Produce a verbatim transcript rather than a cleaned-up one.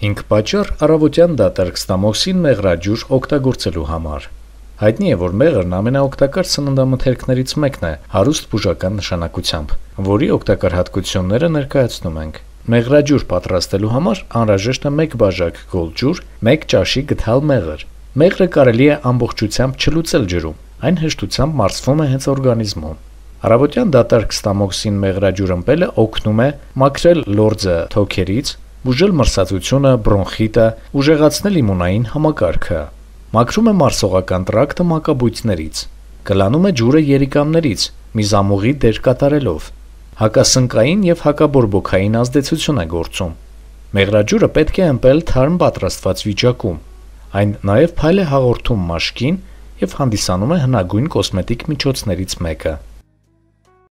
հինգ պատճառ առավոտյան դատարկ մեղրաջուր օգտագործելու համար։ Հայտնի է, որ մեղրն ամենաօգտակար սննդամթերքներից մեկն է հարուստ բուժական նշանակությամբ, որի օգտակար հատկությունները ներկայացնում ենք։ Մեղրաջուր պատրաստելու համար անհրաժեշտ է մեկ բաժակ գոլ ջուր, մեկ ճաշի գդալ մեղր։ Մեղրը կարելի է ամբողջությամբ չլուծել ջրում, այն հեշտությամբ մարսվում է հենց օրգանիզմում։ Առավոտյան դատարկ մեղրաջուր ըմպելը օգնում է մաքրել լորձը թոքերից, բուժել մրսածությունը, բրոնխիտը, ուժեղացնել իմունային համակարգը, մաքրում է մարսողական տրակտը մակաբույծներից, կլանում է ջուրը երիկամներից, միզամուղի դեր կատարելով, հակասնկային և հակաբորբոքային ազդեցություն է գործում։ Մեղրաջուրը պետք է ըմպել թարմ պատրաստված վիճակում, այն նաև փայլ է հաղորդում մաշկին և հանդիսանում է հնագույն կոսմետիկ միջոցներից մեկը։